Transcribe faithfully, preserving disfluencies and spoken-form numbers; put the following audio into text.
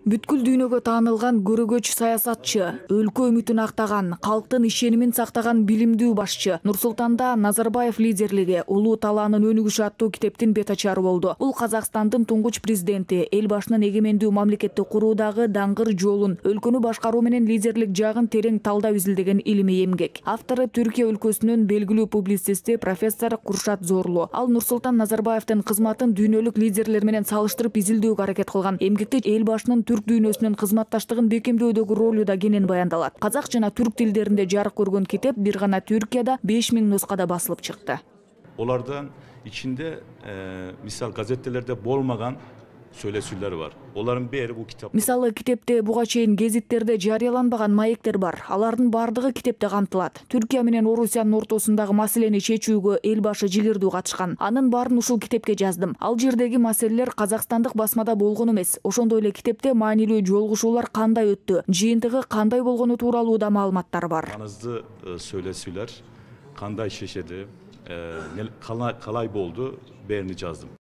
Бүткүл дүйнөгө таанылган көрөгөч саясатчы, өлкө үмүтүн актаган, калктын ишенимин сактаган билимдүү башчы Нурсултанда Назарбаев лидерлиги улуу талаанын өнүгүшү аттуу китептин бет ачары болду. Бул Казакстандын туңгуч президенти эл башынын эгемендүү мамлекетти куруудагы даңгыр жолун, өлкөнү башкаруу менен лидерлик жагын терең талдап изилдеген илимий эмгек. Автору Түркия өлкөсүнүн белгилүү публицисти профессор Куршат Зорлу. Ал Нурсултан Назарбаевдин кызматын дүйнөлүк лидерлер менен салыштырып изилдөөгө аракет кылган. Эмгекте эл башынын түрк дүйнөсүнүн кызматташтыгын бекемдөөдөгү ролу да кенен баяндалат. Казак жана түрк тилдеринде жарык көргөн китеп бир гана Түркияда беш миң нускада басылып чыкты. Олардан ичинде э, мисал газеттелерде болмаган сүйлөшүүлөр бар. Олардын бери бул китап. Мисалы, китепте буга чейин гезиттерде жарыяланбаган маектер бар. Алардын бардыгы китепте камтылат. Түркия менен Орусиянын ортосундагы маселени чечүүгө эл башы жигердүү катышкан. Анын баарын ушул китепке жаздым. Ал жердеги маселелер казакстандык басмада болгон эмес. Ошондой эле китепте маанилүү жолугушуулар кандай өттү, жыйынтыгы кандай болгону тууралуу да маалыматтар бар. Маңызды сүйлөшүүлөр кандай чечеди, калай болду, бээrini жаздым.